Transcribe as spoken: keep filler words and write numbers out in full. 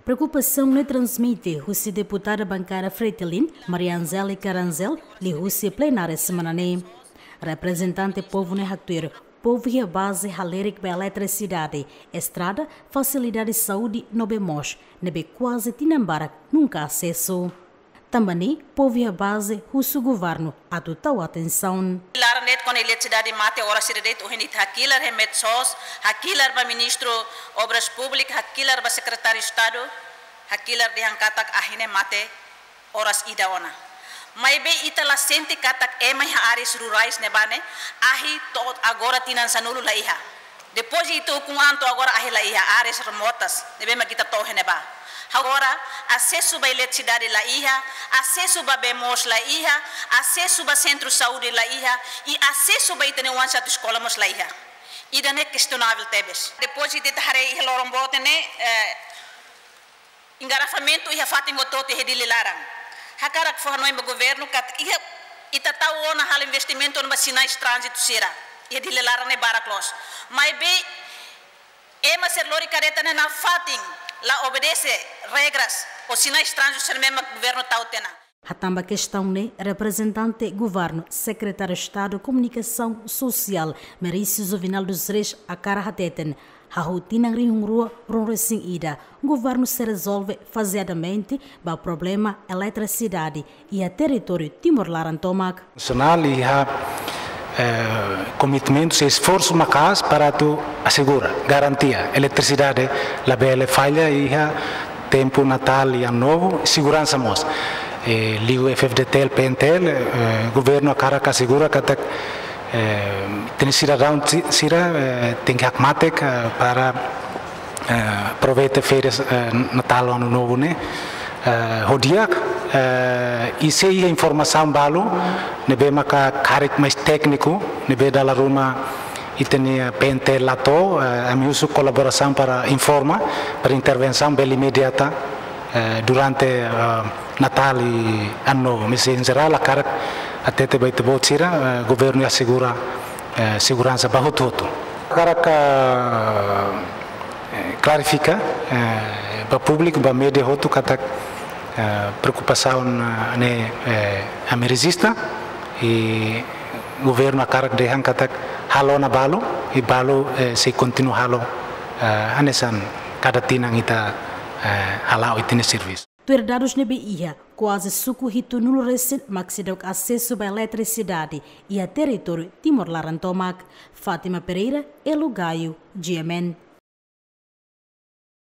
Preokupasaun ne'e transmite husi deputada bankada Fretilin, Maria Angélica Rangel, liuhusi plenária semana ne'e. Reprezentante povu ne'e haktuir, povu iha baze halerik ba eletrisidade, estrada, fasilidade saúde no bee moos, ne'ebé kuaze tinan barak nunka asesu. Tanba ne'e, povu iha baze husu governu atu tau atensaun. Laran de'it kona eletrisidade mate oras ida de'it, ohin ita hakilar iha Metsos, hakilar ba Ministru Obras Públikas, hakilar ba Sekretáriu Estadu, hakilar dehan katak ahi ne'e mate oras ida ona. Maibé ita la sente katak ema iha áreas rurais ne'ebá ne'e, ahi to'o agora tinan sanulu la iha. Depois de ita ukun an to'o agora ahi la iha, áreas remotas ne'ebé mak ita to'o iha ne'ebá. Agora, asesu ba eletrisidade la iha, asesu ba bee moos la iha, asesu ba sentru saúde la iha, i asesu ba ita-nia oan satu eskola mós la iha. Ida-ne'e kestionável tebes. Depois de ita haree iha loron boot ne'e, eh, engarrafamentu iha fatin hotu-hotu iha Dili laran. Hakarak fó hanoin ba governu katak iha, ita tau ona halo investimentu ona ba sinais tránzitu sira iha Dili laran ne'e barak loos. Maibé ema sira lori kareta ne'e nafatin la obedese regras ou sinais tránzitu sira ne'ebé mak governu tau tiha ona. Hatán ba kestaun ne'e, reprezentante governu, Sekretáriu Estadu Komunikasaun Sosiál, Merício Juvenal dos Reis, hakarak hateten, hahú tinan rihun rua ruanulu-resin-ida, governu sei rezolve fazeadamente ba problema eletrisidade iha territóriu Timor laran tomak. Nasionál iha, eh, komitmentu i esforsu maka'as para atu asegura, garantia eletrisidade labele falla iha tempu Natál i Ano Novu, seguransa mós. Eh, liu F-FDTL, PNTL, eh, governu hakarak asegura katak, eh, ita-nia sidadaun si-, sira, eh, tenke hakmatek, eh, para, eh, aproveita férias, eh, Natál, Ano Novu ne'e, eh, ho di'ak, eh, i se iha informasaun balu ne'ebé maka karik mais tékniku, ne'ebé dala ruma ita-nia PNTL la to'o, eh, ami husu kolaborasaun para informa, para intervensaun bele imediata, eh, durante, eh, Natál i Ano Novu. Mas em jerál, hakarak hatete ba ita-boot sira, eh, governu asegura, eh, seguransa ba hotu-hotu. Hakarak, eh, klarifika, eh, ba públiku, ba média hotu katak, eh, preokupasaun, eh, ne'e, eh, ami rejista, i governu hakarak dehan katak halo ona balu, i balu, eh, sei kontinua halo, eh, hanesan kada tinan ita, eh, hala'o ita-nia servisu. Tuir dadus ne'ebé iha, kuaze suku hitunulu resin mak seidauk asesu ba eletrisidade iha territóriu Timor laran tomak. Fátima Pereira, Elo Gaio, GMN.